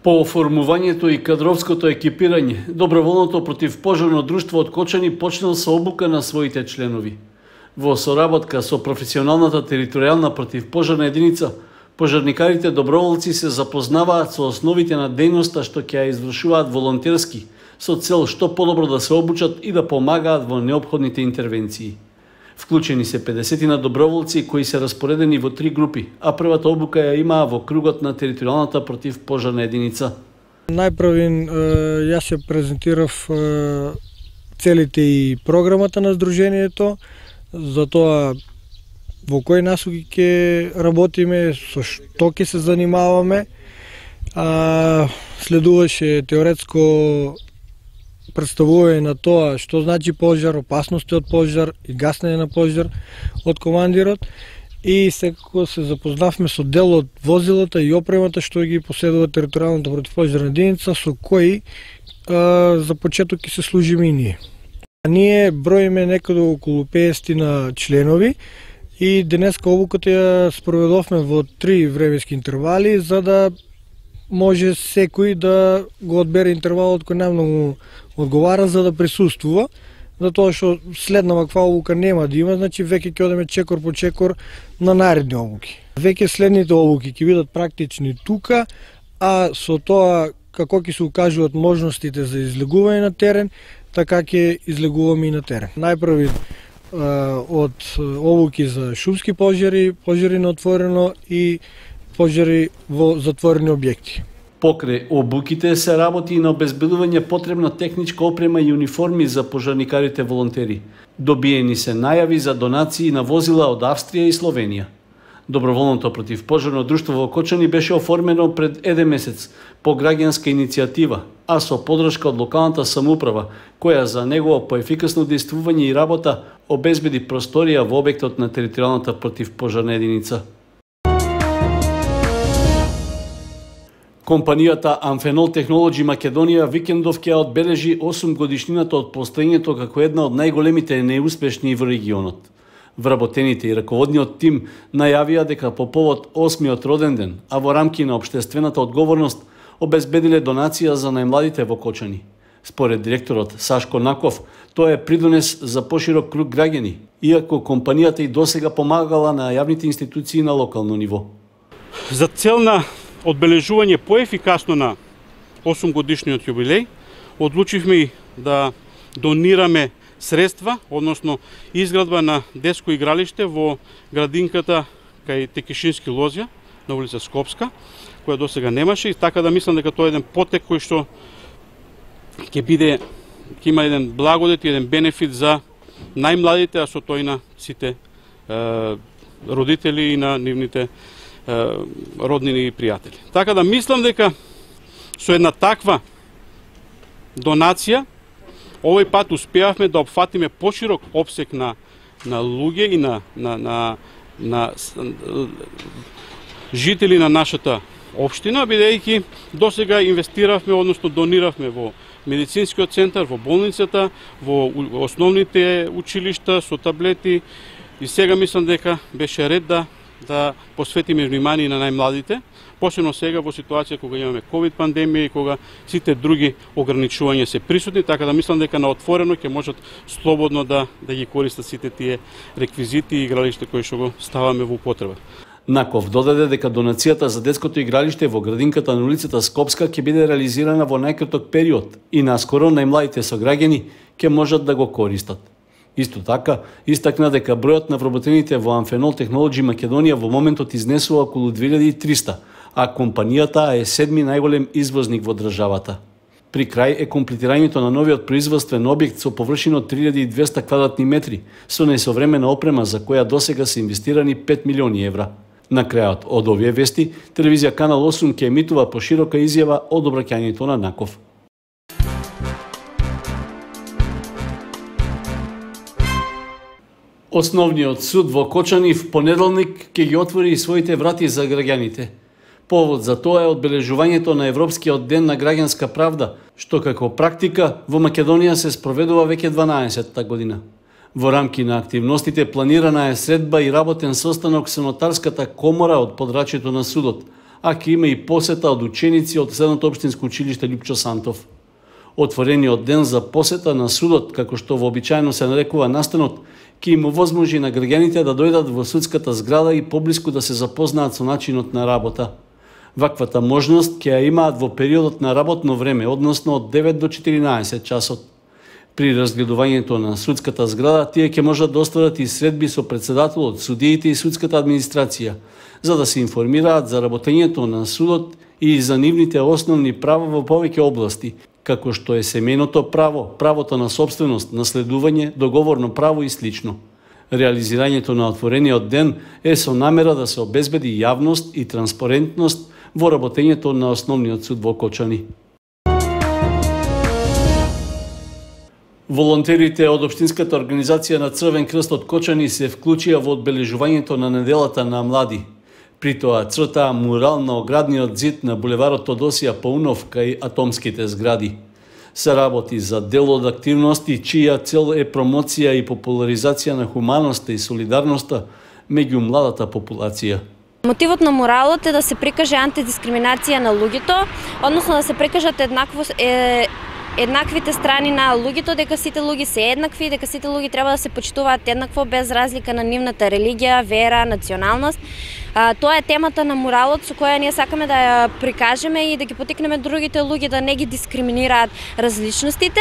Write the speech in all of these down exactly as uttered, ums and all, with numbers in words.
По оформувањето и кадровското екипирање, доброволното противпожарно друштво од Кочани почнал со обука на своите членови. Во соработка со професионалната територијална противпожарна единица, пожарникарите доброволци се запознаваат со основите на дејноста што ќе ја извршуваат волонтерски, со цел што подобро да се обучат и да помагаат во неопходните интервенции. Вклучени се педесетина доброволци кои се распоредени во три групи, а првата обука ја имаа во кругот на територијалната противпожарна единица. Најпрвин јас ја презентирав целите и програмата на Сдруженијето, за тоа во кои насоки ќе работиме, со што ќе се занимаваме. А, следуваше теоретско представување на тоа што значи пожар, опасности од пожар и гаснење на пожар од командирот, и секако се запознавме со дел од возилата и опремата што ги поседува територијалната противпожарна единица, со кои а, за почеток ќе се служиме и ние. А ние броиме некаде околу песет на членови и денеска обуката ја спроведовме во три временски интервали, за да може секој да го одбере интервалот кој најмногу одговара за да присуствува, затоа што следна ваква обука нема да има, значи веќе ќе одеме чекор по чекор на наредни обуки. Веќе следните обуки ќе бидат практични тука, а со тоа како ќе се укажуваат можностите за излегување на терен, така ќе излегуваме и на терен. Најпрви од обуки за шумски пожари, пожари на отворено и пожари во затворени објекти. Покрај обуките се работи и на обезбедување потребна техничка опрема и униформи за пожарникарите волонтери. Добиени се најави за донации на возила од Австрија и Словенија. Доброволното противпожарно друштво во Кочани беше оформено пред еден месец по граѓанска иницијатива, а со подршка од локалната самоуправа, која за негово поефикасно дејствување и работа обезбеди просторија во објектот на територијалната противпожарна единица. Компанијата Амфенол Технолоџи Македонија викендов ќе одбележи осум годишнината од постоењето како една од најголемите неуспешни во регионот. Вработените и раководниот тим најавија дека по повод осмиот роден ден, а во рамки на општествената одговорност, обезбедиле донација за најмладите во Кочани. Според директорот Сашко Наков, тоа е придонес за поширок круг граѓани, иако компанијата и досега помагала на јавните институции на локално ниво. За цел на одбележување поефикасно на осум годишниот јубилеј, одлучивме да донираме средства, односно изградба на детско игралиште во градинката кај Текишински лозја на улица Скопска, која досега немаше, и така да мислам дека тоа е еден потек кој што ќе биде, ќе има еден благодет и еден бенефит за најмладите, а со тој на сите е, родители и на нивните роднини и пријатели. Така да мислам дека со една таква донација овој пат успеавме да опфатиме поширок опсек на на луѓе и на на на на жители на нашата општина, бидејќи досега инвестиравме, односно дониравме во медицинскиот центар, во болницата, во основните училишта со таблети, и сега мислам дека беше ред да да посветиме внимание на најмладите, посебно сега во ситуација кога имаме ковид пандемија и кога сите други ограничувања се присутни, така да мислам дека на отворено ќе можат слободно да да ги користат сите тие реквизити и игралишта кои што го ставаме во употреба. Наков додаде дека донацијата за детското игралиште во градинката на улицата Скопска ќе биде реализирана во најкраток период и наскоро најмладите сограѓани ќе можат да го користат. Исто така, истакна дека бројот на вработените во Амфенол Технолоџи Македонија во моментот изнесува околу две илјади и триста, а компанијата е седми најголем извозник во државата. При крај е комплетирањето на новиот производствен објект со површина од три илјади и двесте квадратни метри, со најсовремена опрема за која досега се инвестирани пет милиони евра. На крајот од овие вести, телевизија Канал осум ќе емитува поширока изјава од обраќањето на Наков. Основниот суд во Кочани в понеделник ќе ги отвори своите врати за граѓаните. Повод за тоа е одбележувањето на Европскиот ден на граѓанска правда, што како практика во Македонија се спроведува веќе дванаесетта година. Во рамки на активностите планирана е средба и работен состанок со нотарската комора од подрачјето на судот, а ќе има и посета од ученици од Средното општинско училиште Лјупчо Сантов. Отворениот ден за посета на судот, како што вообичаено се нарекува настанот, ќе им овозможи на граѓаните да дојдат во судската зграда и поблиску да се запознаат со начинот на работа. Ваквата можност ќе ја имаат во периодот на работно време, односно од девет до четиринаесет часот. При разгледувањето на судската зграда, тие ќе можат да остварат и средби со председателот, судиите и судската администрација, за да се информираат за работењето на судот и за нивните основни права во повеќе области, како што е семејното право, правото на собственост, наследување, договорно право и слично. Реализирањето на отворениот ден е со намера да се обезбеди јавност и транспарентност во работењето на Основниот суд во Кочани. Волонтерите од Општинската организација на Црвен крст од Кочани се вклучија во одбележувањето на неделата на млади. При тоа цртаа мурал на оградниот зид на булеварот Тодосија Паунов кај атомските згради. Се работи за дел од активности чија цел е промоција и популаризација на хуманоста и солидарноста меѓу младата популација. Мотивот на муралот е да се прикаже антидискриминација на луѓето, односно да се прикажат еднакво е еднаквите страни на луѓето, дека сите луѓе се еднакви, дека сите луѓе треба да се почитуваат еднакво без разлика на нивната религија, вера, националност. А, тоа е темата на муралот со која ние сакаме да ја прикажеме и да ги потикнеме другите луѓе да не ги дискриминираат различностите.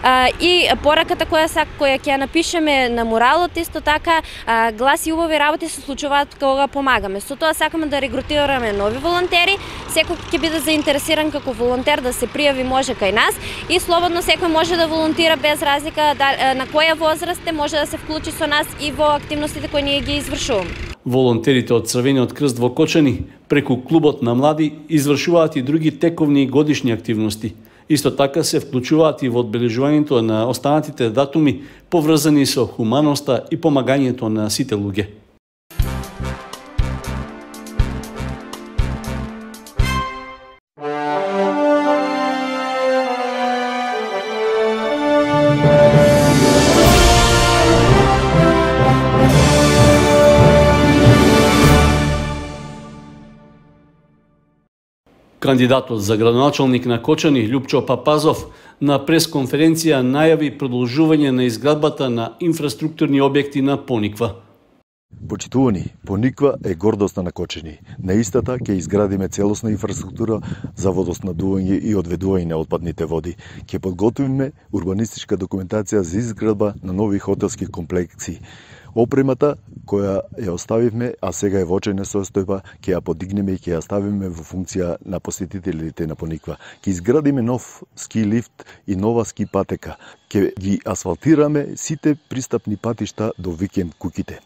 А, и пораката која сак која ќе ја напишеме на муралот исто така а, гласи убави работи се случуваат кога помагаме. Со тоа сакаме да регрутираме нови волонтери. Секој ќе биде заинтересиран како волонтер да се пријави може кај нас и слободно секој може да волонтира без разлика да, на која возраст е, може да се вклучи со нас и во активностите кои ние ги извршуваме. Волонтерите од Црвениот крст во Кочани преку клубот на млади извршуваат и други тековни и годишни активности. Исто така се вклучуваат и во одбележувањето на останатите датуми поврзани со хуманоста и помагањето на сите луѓе. Кандидатот за градоначалник на Кочани, Лјупчо Папазов, на пресконференција најави продолжување на изградбата на инфраструктурни објекти на Пониква. Почитувани, Пониква е гордоста на Кочани. На истата ќе изградиме целосна инфраструктура за водоснабдување и одведување на отпадните води. Ќе подготвиме урбанистичка документација за изградба на нови хотелски комплекси. Опремата која ја оставивме, а сега е во очајна состојба, ќе ја подигнеме и ќе ја ставиме во функција на посетителите на Пониква. Ќе изградиме нов ски лифт и нова ски патека. Ќе ги асфалтираме сите пристапни патишта до викенд куќите.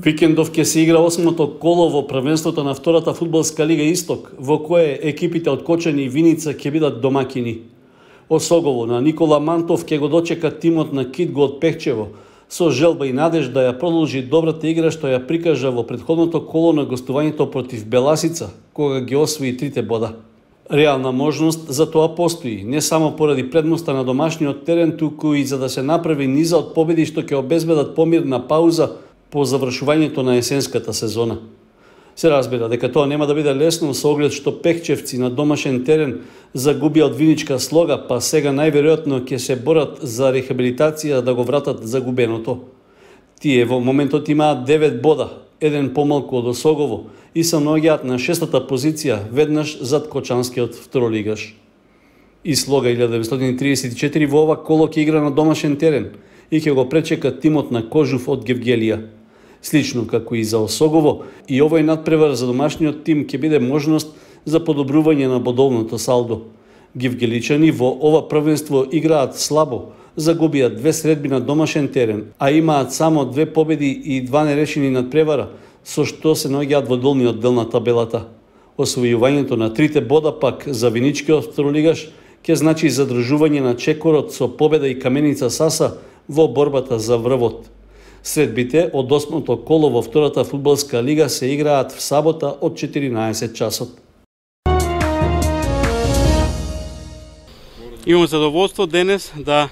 Викендов ќе се игра осмото коло во првенството на втората фудбалска лига Исток, во кое екипите од Кочани и Виница ќе бидат домакини. Осогово на Никола Мантов ќе го дочека тимот на Китго од Пехчево, со желба и надеж да ја продолжи добрата игра што ја прикажа во претходното коло на гостувањето против Беласица, кога ги освои трите бода. Реална можност за тоа постои, не само поради предноста на домашниот терен, туку и за да се направи низа од победи што ќе обезбедат помирна пауза по завршувањето на есенската сезона. Се разбира дека тоа нема да биде лесно со оглед што пехчевци на домашен терен загубија од Виничка Слога, па сега најверојатно ќе се борат за рехабилитација да го вратат загубеното. Тие во моментот имаат девет бода, еден помалку од Осогово и се наоѓаат на шестата позиција, веднаш зад кочанскиот второлигаш. И Слога илјада деветстотини тридесет и четири во ова коло ќе игра на домашен терен и ќе го пречека тимот на Кожув од Гевгелија. Слично како и за Осогово, и овој надпревар за домашниот тим ќе биде можност за подобрување на бодовното салдо. Гевгеличани во ова првенство играат слабо, загубија две средби на домашен терен, а имаат само две победи и два нерешени надпревара, со што се наоѓаат во долниот дел на табелата. Освојувањето на трите бода пак за виничкиот второлигаш ќе значи задржување на чекорот со победа и Каменица Саса во борбата за врвот. Средбите од осмото коло во втората фудбалска лига се играат в сабота од четиринаесет часот. Имам задоволство денес да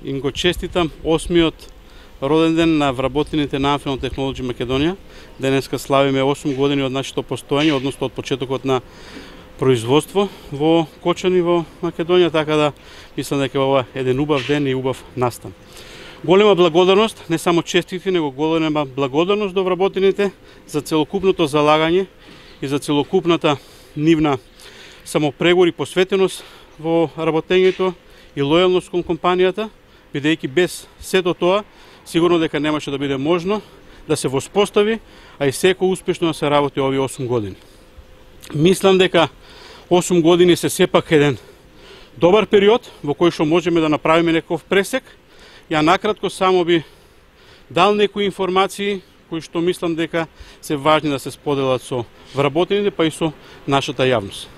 им го честитам осмиот роден ден на вработените на Amphenol Technology Македонија. Денеска славиме осум години од нашето постоење, односно од почетокот на производство во кочани во Македонија, така да мислам дека ова е еден убав ден и убав настан. Голема благодарност, не само честити, него голема благодарност до вработените за целокупното залагање и за целокупната нивна самопрегор и посветеност во работењето и лојалност кон компанијата, бидејќи без сето тоа, сигурно дека немаше да биде можно да се воспостави, а и секој успешно да се работи овие осум години. Мислам дека осум години се сепак еден добар период во кој што можеме да направиме некој пресек. Ја накратко само би дал некои информации кои што мислам дека се важни да се споделат со вработените, па и со нашата јавност.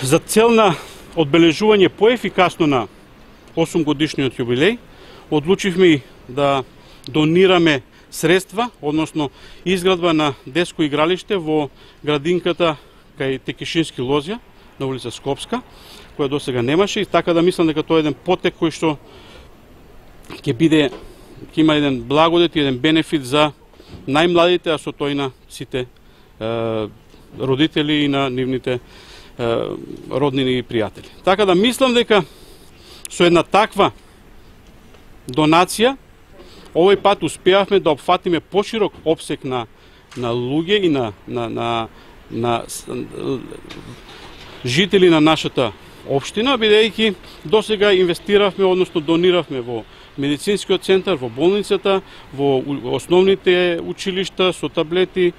За цел на одбележување поефикасно на осум годишниот јубилеј, одлучивме да донираме средства, односно изградба на детско игралиште во градинката кај Текишински лозја на улица Скопска, која досега немаше, и така да мислам дека тоа е еден потек кој што ќе биде, ќе има еден благодет и еден бенефит за најмладите, а со тој на сите е, родители и на нивните е, роднини и пријатели. Така да мислам дека со една таква донација овој пат успеавме да опфатиме поширок опсек на на луѓе и на на на на жители на нашата општина, бидејќи досега инвестиравме, односно дониравме во медицинскиот центар, во болницата, во основните училишта со таблети,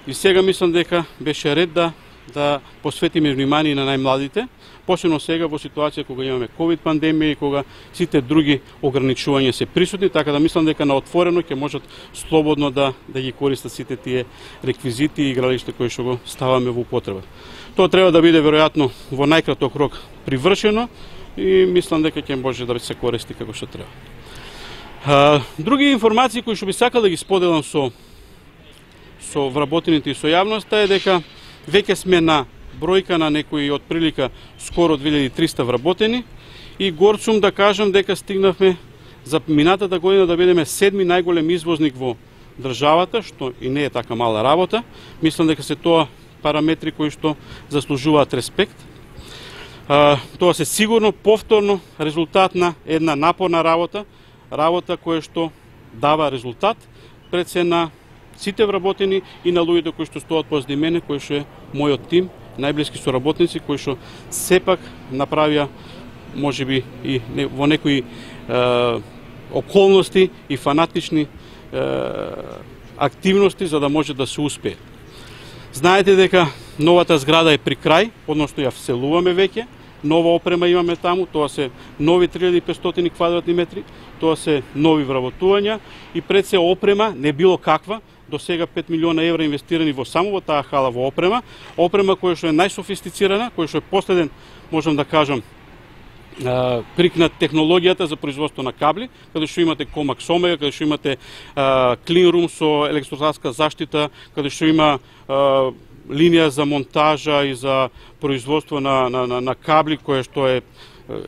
и сега мислам дека беше ред да да посветиме внимание на најмладите, посебно сега во ситуација кога имаме ковид пандемија и кога сите други ограничувања се присутни, така да мислам дека на отворено ќе можат слободно да да ги користат сите тие реквизити и игралишта кои што го ставаме во употреба. Тоа треба да биде веројатно во најкраток рок привршено и мислам дека ќе може да се користи како што треба. А, други информации кои што би сакал да ги споделам со со вработените и со јавноста е дека веќе сме на бројка на некои од прилика скоро две илјади и триста вработени и горд сум да кажам дека стигнавме за минатата година да бидеме седми најголем извозник во државата, што и не е така мала работа. Мислам дека се тоа параметри кои што заслужуваат респект. А, тоа се сигурно повторно резултат на една напорна работа, работа која што дава резултат пред се на сите вработени и на луѓето кои што стоат позади мене, кои што е мојот тим, најблиски соработници кои што сепак направија можеби и во некои е, околности и фанатични е, активности за да може да се успее. Знаете дека новата зграда е при крај, односно ја вселуваме веќе, нова опрема имаме таму, тоа се нови три илјади и петстотини квадратни метри, тоа се нови вработувања и пред се опрема, не било каква, до сега пет милиона евра инвестирани во само во таа хала во опрема, опрема која што е најсофистицирана, која што е последен, можам да кажам, крик на технологијата за производство на кабли, каде што имате Comax Omega, каде што имате clean room со електростатска заштита, каде што има а, линија за монтажа и за производство на, на, на, на кабли, кое што е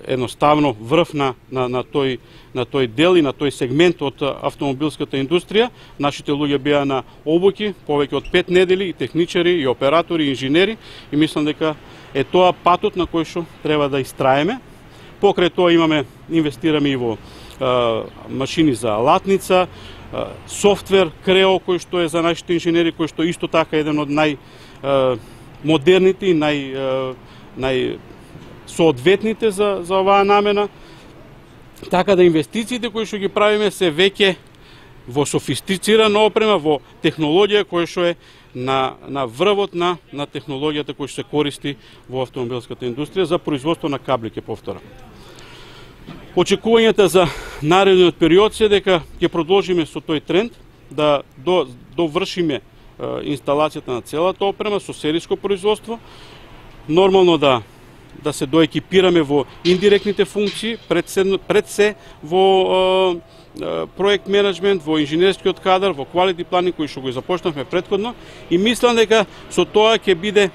едноставно врв на, на, на, тој, на тој дел и на тој сегмент од автомобилската индустрија. Нашите луѓе беа на обуки повеќе од пет недели, и техничари, и оператори, и инженери, и мислам дека е тоа патот на кој што треба да истраеме. Покрај тоа имаме, инвестираме и во а, машини за алатница, а, софтвер Крео, кој што е за нашите инженери, кој што исто така е еден од нај а, модерните и нај, а, нај соодветните за, за оваа намена. Така да инвестициите кои што ги правиме се веќе во софистицирана опрема, во технологија која што е на, на врвот на, на технологијата која што се користи во автомобилската индустрија за производство на кабли, ке повторам. Очекувањата за наредниот период се дека ќе продолжиме со тој тренд, да до, довршиме инсталацијата на целата опрема со сериско производство. Нормално да да се доекипираме во индиректните функции, пред се, пред се во проект менеджмент, во инженерскиот кадар, во quality planning кој што го започнавме претходно, и мислам дека со тоа ќе биде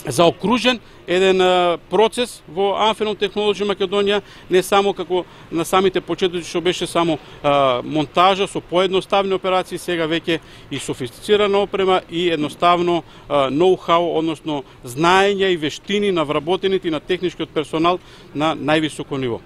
заокружен еден процес во Amphenol Technology Македонија, не само како на самите почетоци што беше само а, монтажа со поедноставни операции, сега веќе и софистицирана опрема и едноставно ноу-хау, односно знаење и вештини на вработените и на техничкиот персонал на највисоко ниво.